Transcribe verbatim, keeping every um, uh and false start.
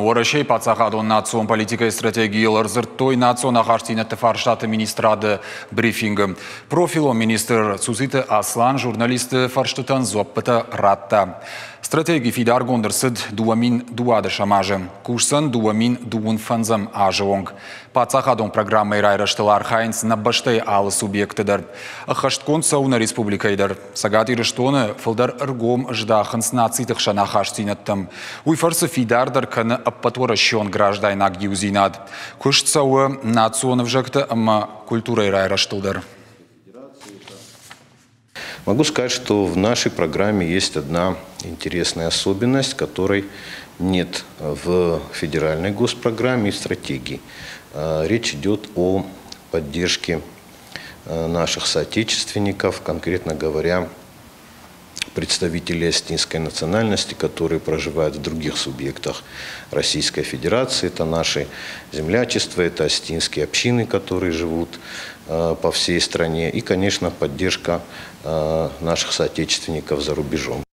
Уӕрӕсейы паддзахадон национ политикӕйы стратегийыл ӕрдзырдтой национ ахастдзинӕдты фарстаты министрады брифингы. Профилон министр Цуциты Аслан журналистты фӕрстытӕн дзуӕппытӕ радта. Стратеги фидаргонд ӕрцыд дыууӕ мин дыууадӕсӕм азы. Кусдзӕн дыууӕ мин дыууын фӕндзӕм азы онг. Паддзахадон программӕйы райрӕзтыл архайынц нӕ бӕстӕйы алы субъекты дӕр. Ӕххӕстгонд цӕуы нӕ республикӕйы дӕр. Цӕгат Ирыстоны фылдӕр ӕргом здахынц нациты хсӕн ахастдзинӕдтӕм. Уый фӕрцы фидардӕр кӕны ӕппӕтуӕрӕсеон граждайнаг иудзинад. Куыст цӕуы национ ӕвзӕгты ӕмӕ культурӕйы райрӕзтыл дӕр. Могу сказать, что в нашей программе есть одна интересная особенность, которой нет в федеральной госпрограмме и стратегии. Речь идет о поддержке наших соотечественников, конкретно говоря, представителей осетинской национальности, которые проживают в других субъектах Российской Федерации. Это наши землячества, это осетинские общины, которые живут по всей стране. И, конечно, поддержка наших соотечественников за рубежом.